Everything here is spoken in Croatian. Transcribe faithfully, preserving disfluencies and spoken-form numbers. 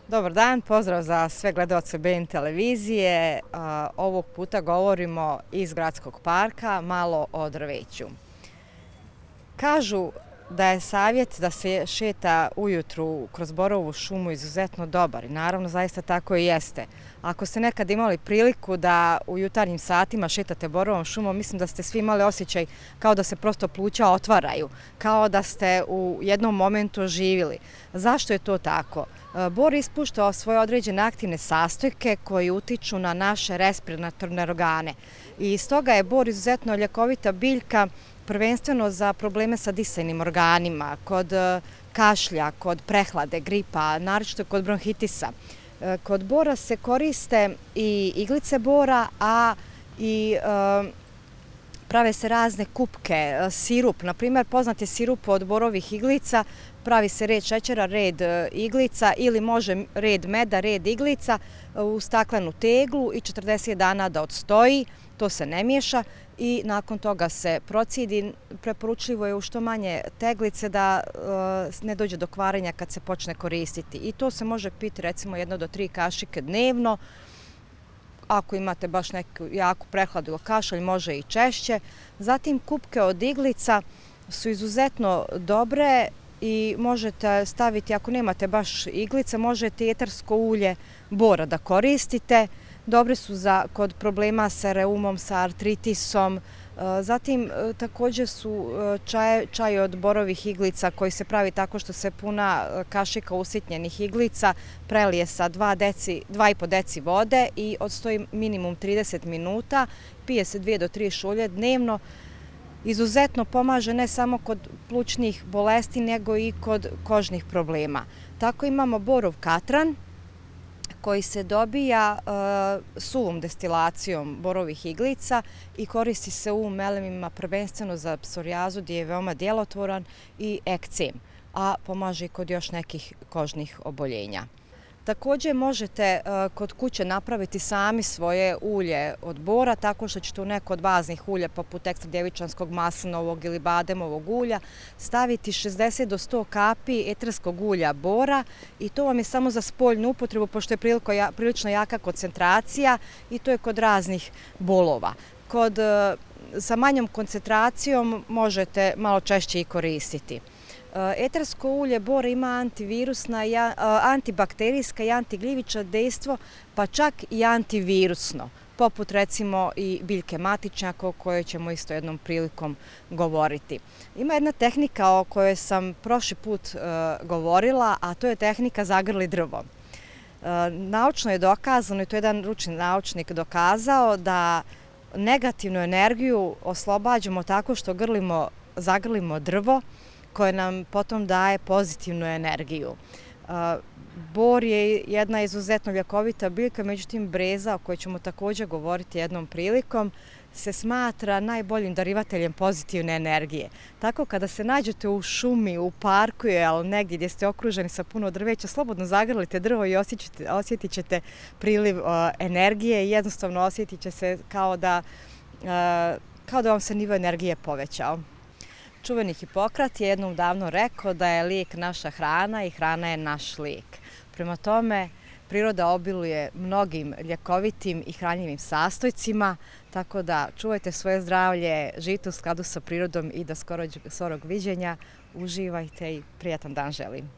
Dobar dan, pozdrav za sve gledaoce B N televizije. Ovog puta govorimo iz gradskog parka, malo o drveću. Kažu da je savjet da se šeta ujutru kroz borovu šumu izuzetno dobar i naravno zaista tako i jeste. Ako ste nekad imali priliku da u jutarnjim satima šetate borovom šumom, mislim da ste svi imali osjećaj kao da se prosto pluća otvaraju, kao da ste u jednom momentu oživili. Zašto je to tako? Bor ispušta svoje određene aktivne sastojke koji utiču na naše respiratorne organe i stoga je bor izuzetno ljekovita biljka, prvenstveno za probleme sa disajnim organima, kod kašlja, kod prehlade, gripa, naročito kod bronhitisa. Kod bora se koriste i iglice bora, a i prave se razne kupke, sirup. Na primjer, poznat je sirup od borovih iglica, pravi se red šećera, red iglica ili može red meda, red iglica u staklenu teglu i četrdeset dana da odstoji, to se ne miješa i nakon toga se procidi. Preporučljivo je u što manje teglice da ne dođe do kvarenja kad se počne koristiti. I to se može piti recimo jedno do tri kašike dnevno. Ako imate baš neku jaku prehladu ili kašalj, može i češće. Zatim kupke od iglica su izuzetno dobre i možete staviti, ako nemate baš iglice, možete i etersko ulje bora da koristite. Dobre su za, kod problema sa reumom, sa artritisom. Zatim također su čaj, čaj od borovih iglica koji se pravi tako što se puna kašika usitnjenih iglica prelije sa dva i po deci vode i odstoji minimum trideset minuta, pije se dvije do tri šulje dnevno. Izuzetno pomaže ne samo kod plućnih bolesti, nego i kod kožnih problema. Tako imamo borov katran, koji se dobija suvom destilacijom borovih iglica i koristi se u melemima prvenstveno za psorijazu gdje je veoma djelotvoran i ekcem, a pomaže i kod još nekih kožnih oboljenja. Također možete kod kuće napraviti sami svoje ulje od bora tako što ćete u neko od baznih ulja poput ekstra djevičanskog, maslinovog ili bademovog ulja staviti šezdeset do sto kapi eterskog ulja bora i to vam je samo za spoljnu upotrebu pošto je prilično jaka koncentracija i to je kod raznih bolova. Kod, sa manjom koncentracijom možete malo češće i koristiti. Etersko ulje bora ima antivirusna, antibakterijska i antigljivična dejstvo, pa čak i antivirusno, poput recimo i biljke matičnjaka o kojoj ćemo isto jednom prilikom govoriti. Ima jedna tehnika o kojoj sam prošli put govorila, a to je tehnika zagrli drvo. Naučno je dokazano, i to je jedan ručni naučnik dokazao, da negativnu energiju oslobađamo tako što grlimo, zagrlimo drvo, koje nam potom daje pozitivnu energiju. Bor je jedna izuzetno ljekovita biljka, međutim breza, o kojoj ćemo također govoriti jednom prilikom, se smatra najboljim darivateljem pozitivne energije. Tako kada se nađete u šumi, u parku ili negdje gdje ste okruženi sa puno drveća, slobodno zagrlite drvo i osjetit ćete priliv energije i jednostavno osjetit će se kao da, kao da vam se nivo energije povećao. Čuveni Hipokrat je jednom davno rekao da je lijek naša hrana i hrana je naš lijek. Prema tome, priroda obiluje mnogim ljekovitim i hranjivim sastojcima, tako da čuvajte svoje zdravlje, živite u skladu sa prirodom i do skorog viđenja. Uživajte i prijatan dan želim.